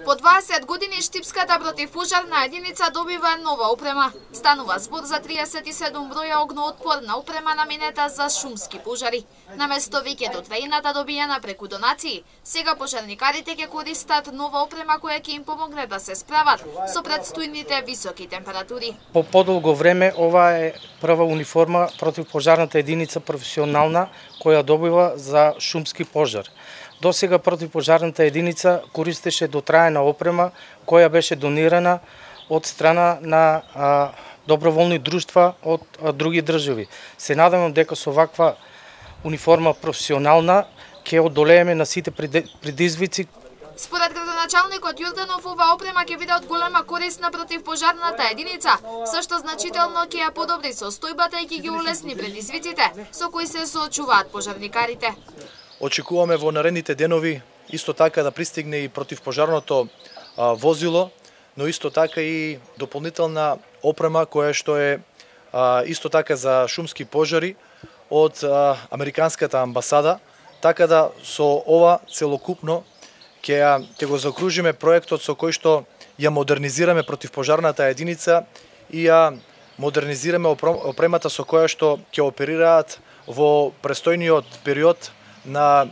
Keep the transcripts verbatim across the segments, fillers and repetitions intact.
По дваесет години штипската противпожарна единица добива нова опрема. Станува збор за триесет и седум броја огноотпорна опрема наменета за шумски пожари. Наместо веќе дотреината добиена преку донации, сега пожарникарите ќе користат нова опрема која ќе им помогне да се справат со предстојните високи температури. По подолго време ова е прва униформа противпожарната единица професионална која добива за шумски пожар. До сега противпожарната единица користеше дотраена опрема која беше донирана од страна на а, доброволни друштва од а, други држави. Се надевам дека со ваква униформа професионална ќе одолееме на сите предизвици. Според градоначалникот Јорданов, ова опрема ќе биде од голема корист на противпожарната единица, со што значително ќе ја подобри состојбата и ќе ги улесни предизвиците со кои се соочуваат пожарникарите. Очекуваме во наредните денови исто така да пристигне и противпожарното а, возило, но исто така и дополнителна опрема која што е а, исто така за шумски пожари од а, Американската амбасада, така да со ова целокупно ќе ќе го закружиме проектот со кој што ја модернизираме противпожарната единица и ја модернизираме опремата со која што ќе оперираат во престојниот период на,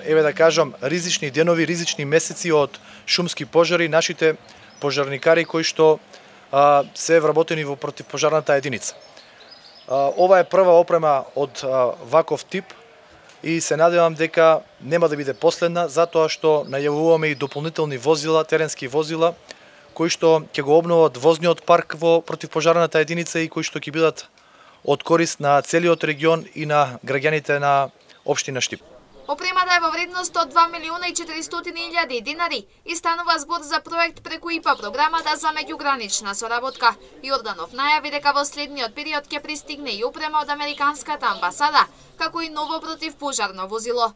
еве да кажам, ризични денови, ризични месеци од шумски пожари, нашите пожарникари кои што а, се вработени во противпожарната единица. А, ова е прва опрема од а, ваков тип и се надевам дека нема да биде последна, затоа што најавуваме и дополнителни возила, теренски возила, кои што ќе го обноват возниот парк во противпожарната единица и кои што ќе бидат од корист на целиот регион и на граѓаните на општина Штип. Опремата е во вредност од два милиона и четиристотини илјади динари и станува збор за проект преку ИПА програмата за меѓугранична соработка. Јорданов најави дека во следниот период ќе пристигне и опрема од Американската амбасада, како и ново противпожарно возило.